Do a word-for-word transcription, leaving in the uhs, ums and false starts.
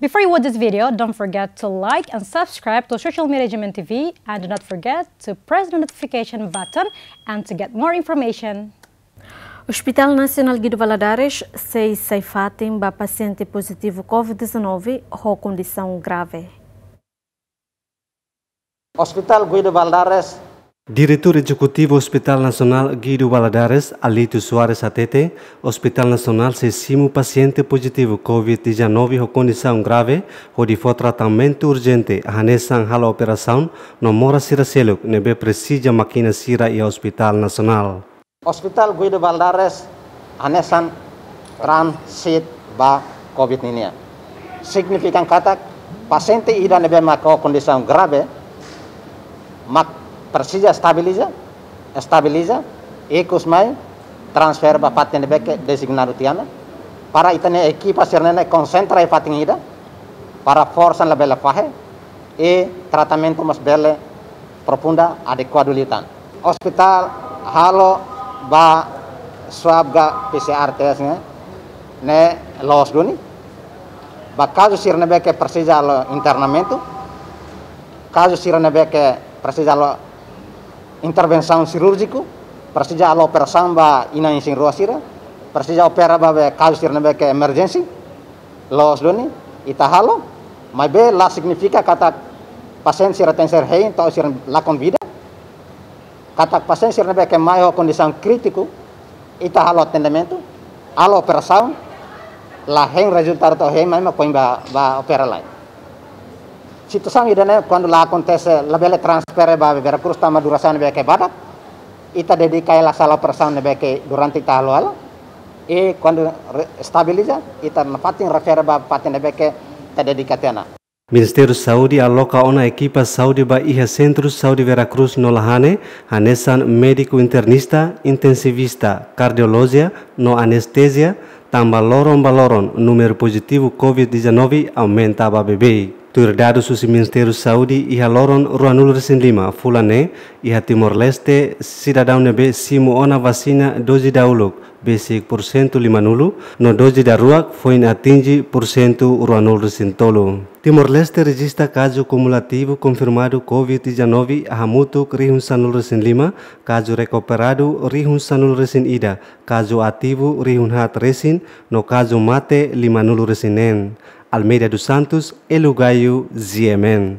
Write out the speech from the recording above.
Before you watch this video, don't forget to like and subscribe to Social Media G M N T V, and do not forget to press the notification button and to get more information. Hospital Nasionál Guido Valadares sei sai fatin ba pasiente pozitivu covid dezanove ho kondisaun grave. Hospital Guido Valadares. Diretór Ezekutivu Hospital Nasionál Guido Valadares, Alito Soares hatete, Hospital Nasionál sei simu pasiente pozitivu covid dezanove ho kondisaun grave, hodi fó tratamentu urjente, hanesan halo operasaun, no moras sira seluk ne'ebé presiza mákina sira iha Hospital Nasionál. Hospital Guido Valadares hanesan transit ba covid ninia. Signifika katak pasiente ida ne'ebé mak ho kondisaun grave mak presiza estabiliza, estabiliza, ikus mai transfere ba fatin ne'ebé ke dezignadu tiha ona, para ita-nia ekipa sira-ne'e konsentra iha fatin ida, para forsa labele fahe, i tratamentu mós bele aprofunda adekuadu liután. Hospital halo ba swab ka P C R test ne'e, ne'e loos duni. Ba kazu sira ne'ebé ke presiza halo internamentu, kazu sira ne'ebé ke presiza halo intervensaun sirúrjiku, presiza halo operasaun ba inan isin-rua sira, presiza opera ba be kazu sira ne'ebé ke emerjénsia, loos duni ita halo, maibé la signifika katak pasiente sira tenke ser hein to'o sira lakon vida. Katak pasiente sira ne'ebé ke mai ho kondisaun krítiku, ita halo atendimentu, halo operasaun, la hein rezultadu to'o hein mai mak foin ba, ba opera lai. Situasaun ida-ne'e kuandu la akontese, labele transfere ba Vera Cruz tanba durasaun ne'ebé ke badak, ita dedika hela sala operasaun ne'ebé ke durante ita halo hela. I kuandu re-, estabiliza, ita nafatin refere ba fatin ne'ebé ke ita dedika tiha ona. Ministériu Saúde aloka ona ekipa saúde ba iha Sentru Saúde Vera Cruz no Lahane, hanesan médiku internista, intensivista, kardiolojia no anestezia, tanba loron ba loron númeru pozitivu covid dezanove aumenta ba beibeik. Tuir dadus husi Ministériu Saúde, iha loron ruanulu-resin-lima fulan ne'e, iha Timor-Leste, sidadaun ne'ebé simu ona vasina doze dauluk, besik porsentu limanulu, no doze daruak foin atinje porsentu ruanulu-resin-tolu. Timor-Leste rejista kazu kumulativu konfirmadu covid dezanove hamutuk rihun sanulu-resin-lima, kazu rekuperadu rihun sanulu-resin-ida, kazu ativu rihun haat resin, no kazu mate limanulu-resin-neen. Almeida dos Santos, Elu Gaio, G M N.